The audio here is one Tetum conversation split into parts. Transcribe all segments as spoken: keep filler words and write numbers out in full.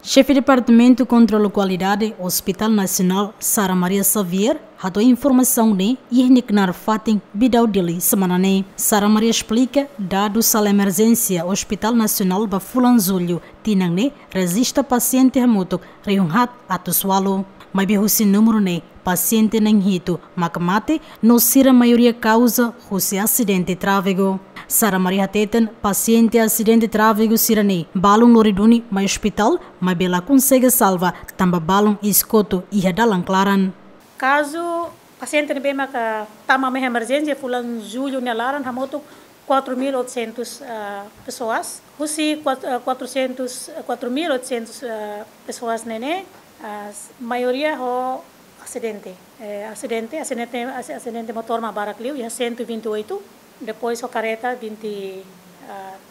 Xefe Departamentu Kontrolu Kualidade Hospital Nasionál, Sara Maria Xavier, hato'o informasaun ne'e iha nia knaar fatin Bidau, Dili, semana ne'e. Sara Maria esplika, dadus sala emerjénsia Hospital Nasionál ba fulan Jullu tinan ne'e rejista pasiente hamutuk rihun haat atus ualu. Maibé husi númeru ne'e, pasiente na'in hitu maka mate, no sira maioria kauza husi asidente tráfegu. Sara Maria hateten, pasiente asidente tráfegu sira-ne'e balun lori duni mai ospitál, maibé la konsege salva, tanba balun iskotu iha dalan klaran. Kazu pasiente ne'ebé maka tama mai emerjénsia fulan Jullu nia laran hamutuk quatro mil oitocentos, ah, pessoas. Husi kuat-, ah, quatrocentos, ah, quatro mil oitocentos, ah, pessoas ne'e ne'e, ah, s-, maioria ho asidente. Eh, asidente, asidente, asi-, asidente motór mak barak liu, iha cento e vinte e oito. Depois ho kareta vinte e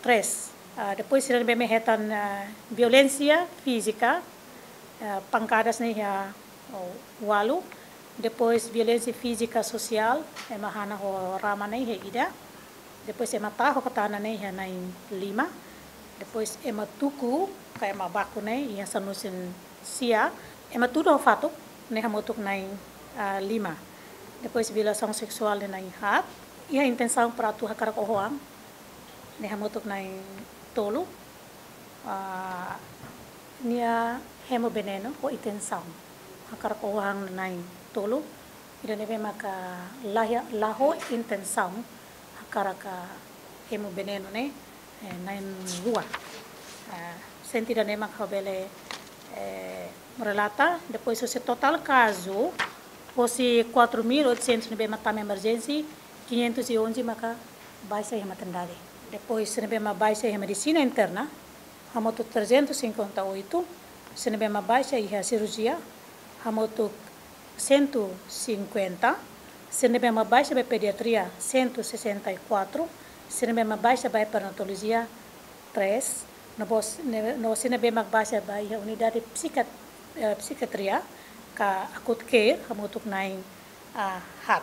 três. Ah, depois sira ne'ebé mak hetan, ah, violénsia fízika, ah, pankadas ne'e iha, oh, ualu. Depois violénsia fízika sosiál, ema hana ho rama ne'e iha ida. Depois ema taho ho tana ne'e iha na'in lima. Depois ema tuku, ka ema baku ne'e iha sanulu-resin-sia. Ema tudu ho fatuk ne'e hamutuk na'in, ah, lima. Depois violasaun seksuál ne'e na'in haat. Iha intensaun para atu hakarak oho an ne'e hamutuk na'in tolu. Ah, nia hemu venenu ho intensaun hakarak oho an na'in tolu. Ida ne'ebé maka la iha, la ho intensaun hakarak hemu venenu ne'e, eh, na'in rua. Ah, sente ida-ne'e maka bele, eh, relata, depois husi totál kazu, husi quatro mil oitocentos ne'ebé mak tama emerjénsia, quinhentos e onze maka baixa iha maternidade. Depois ne'ebé mak baixa iha medisina interna, hamutuk trezentos e cinquenta e oito, sira ne'ebé mak baixa iha sirurjia, hamutuk cento e cinquenta, sira ne'ebé mak baixa ba pediatria, cento e sessenta e quatro, sira ne'ebé mak baixa ba perinatolojia, três, no bos-, ne-, no sira ne'ebé mak baixa ba iha unidade psiquiat-, eh, psiquiatria, ka acute care, hamutuk na'in, ah, haat.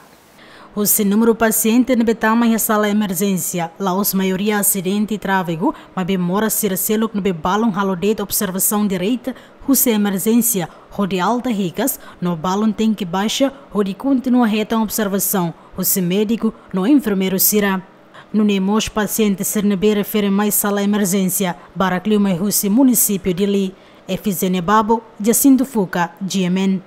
Husi númeru pasiente ne'ebé tama iha sala emerjénsia, la'ós maioria asidente tráfegu, maibé moras sira seluk ne'ebé balun halo de'it observasaun direta husi emerjénsia hodi alta hikas, no balun tenke baixa hodi kontinua hetan observasaun husi médiku no enfermeiru sira. Nune'e mós pasiente sira ne'ebé refere mai sala emerjénsia barak liu mai husi munisípiu Dili. Efizénia Babo, Jacinto Fuca, G M N.